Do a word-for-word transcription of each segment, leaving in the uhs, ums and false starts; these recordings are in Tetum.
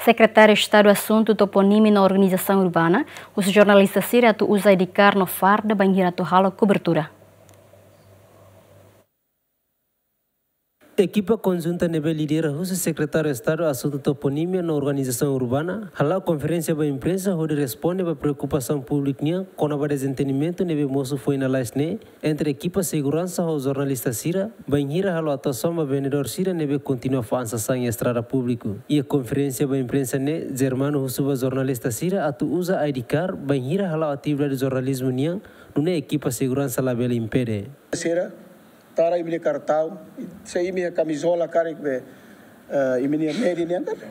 Sekretáriu Estadu Asuntu Toponímia no Organizasaun Urbana husu jornalista sira atu uza I D card no farda bainhira atu halo kobertura. Ekipa konjunta ne'ebé lidera husi Sekretáriu Estadu Asuntu Toponímia no Organizasaun Urbana hala'o konferénsia ba imprensa hodi responde ba preokupasaun públiku nian kona-ba dezentendimentu ne'ebé mosu foin lalais ne'e entre ekipa seguransa ho jornalista sira, bainhira halo atuasaun ba vendedór sira ne'ebé kontinua fa'an sasán iha estrada públiku. Iha konferénsia ba imprensa ne'e, Germano husu ba jornalista sira atu uza I D card bainhira hala'o atividade jornalizmu nian, nune'e ekipa seguransa labele impede. Sira, tara imi-nia kartaun, se imi-nia kamizola karik be, eh, imi-nia média nian karik.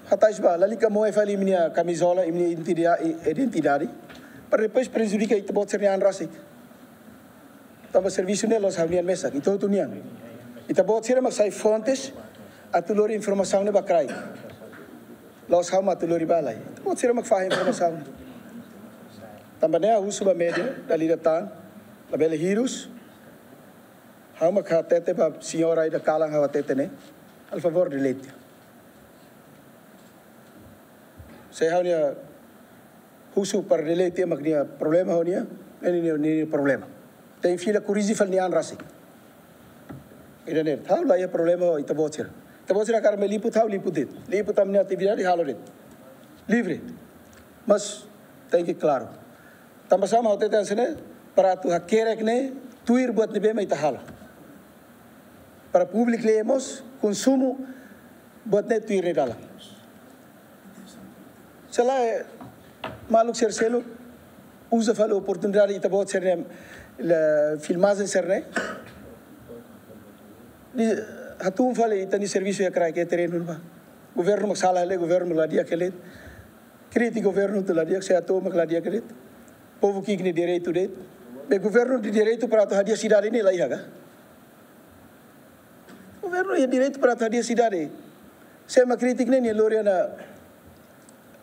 Hatais ba, lalika moe fali imi-nia kamizola, imi-nia identida-, identidade. Para depois prejudika ita-boot sira-nia an rasik. Tanba servisu ne'e la'ós ha'u-nian mesak, ita hotu nian. Ita-boot sira mak sai fontes atu lori informasaun ne'e ba kraik. La'ós ha'u mak atu lori ba lai. Ita-boot sira mak fahe informasaun. Tanba ne'e ha'u husu ba média, dala ida tan, labele hirus. Ha'u mak hatete ba señora ida kalan ha'u hatete ne'e. Halo favór delete. Se ha'u-nia husu para delete mak nia problema ho nia, ne'e nia, nia, nia problema. Tenke fila korrije fali nia an rasik. Ida-ne'e, ha'u la iha problema ho ita-boot sira. Ita-boot sira hakarak mai liput, ha'u liput de'it. Liput ami-nia atividade halo de'it. Livre. Mas tenke klaru. Tanba sá mak ha'u hatete hanesan ne'e, para atu hakerek ne'e, tuir buat ne'ebé mak ita halo. Para públiku lee mós, konsumu buat ne'e tuir nia dalan. Se lae, maluk sira seluk uza fali oportunidade ita-boot sira-nia, la, filmajen sira-ne'e. Di, hatún fali ita-nia servisu iha kraik, iha terrenu ne'ebá. Governu mak sala hela, governu la di'ak hela. Kritika governu atu la di'ak, se atu mak la di'ak hela. Povu ki'ik nia direitu de'it. Be governu nia direitu para atu hadi'a sidade ne'e la iha ka? Governu iha direitu para atu hadi'a sidade. Se ema kritika ne'e, nia lori ona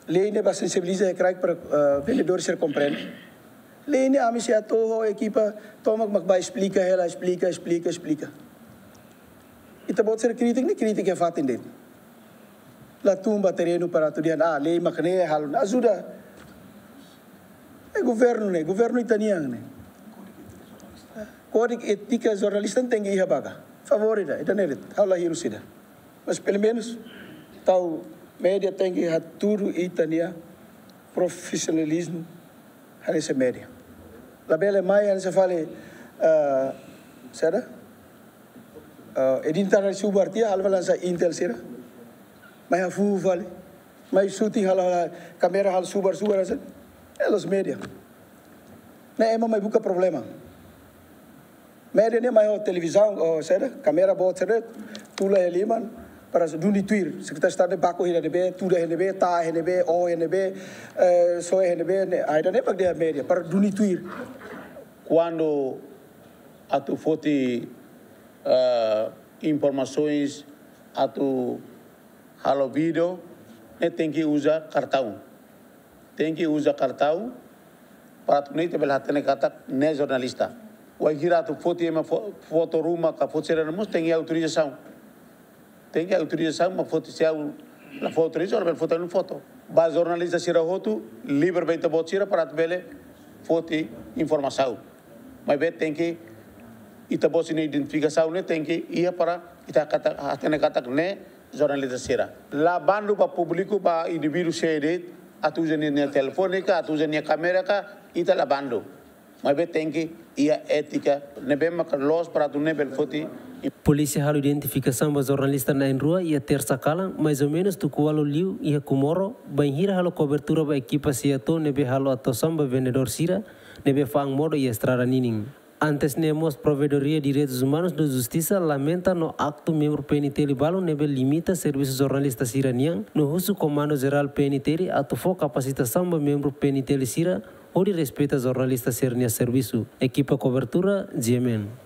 lei ne'e ba sensibiliza iha kraik para, eh, vendedór sira komprende. Lei ne'e ami sei atu ho ekipa tomak mak ba esplika hela, esplika, esplika, esplika. Ita-boot sira kritika ne'e, kritika iha fatin de'it. La tun ba terrenu para atu dehan, ah, lei mak ne'e halo, ajuda. Eh, governu ne'e, governu ita-nian ne'e. Kódigu étika jornalista tenke iha ba ka. Favór ida, ida-ne'e de'it, ha'u la hirus ida. Mas pelumenus, tau média tenke hatudu ita-nia profisionalizmu hanesan média. Labele mai hanesan fali, eh, saida? Eh, identidade subar tiha, halo fali hanesan Intel sira. Mai hafu fali. Mai shooting halo, halo kámera halo subar, subar hanesan. Eh, la'ós média. Ne'e ema mai buka problema. Média ne'e mai ho televizaun, ho saida, kámera boot saida, tula iha liman, para duni tuir. Sekretáriu Estadu ne'e baku iha ne'ebé, tuda iha ne'ebé, ta iha ne'ebé, o iha ne'ebé, eh, so iha ne'ebé, ne'e, ah, ida-ne'e mak dehan média, para duni tuir. Kuandu atu foti, eh, informasoens atu halo vídeo, ne'e tenke uza kartaun. Tenke uza kartaun, para atu nune'e ita bele hatene katak ne'e jornalista. Wainhira atu foti ema fo-, foto ruma ka foto sira mós tenke autorizasaun. Tenke autorizasaun, mak foti se ha'u la fó autorizasaun, labele foti ha'u-nia foto. Ba jornalista sira hotu, livre ba ita-boot sira para atu bele foti informasaun. Maibé tenke, ita-boot sira-nia identifikasaun ne'e tenke iha para ita katak, hatene katak ne'e jornalista sira. La bandu ba públiku, ba indivíduu sé de'it, atu uza nia, nia telefone ka, atu uza nia kámera ka, ita la bandu. Maibé tenke iha étika ne'ebé maka loos para atu nune'e bele foti. Polísia halo identifikasaun ba jornalista na'in-rua iha tersa kalan, mais ou menus tuku ualu liu iha Comoro, bainhira halo kobertura ba ekipa SEATOU ne'ebé halo atuasaun ba vendedór sira ne'ebé fa'an modo iha estrada ninin. Antes ne'e mós, Provedoria Direitus Umanus no Justisa lamenta no aktu membru P N T L balu ne'ebé limita servisu jornalista sira-nian, no husu Komandu Jerál P N T L atu fó kapasitasaun ba membru P N T L sira hodi respeita jornalista sira-nia servisu. Ekipa kobertura, G M N.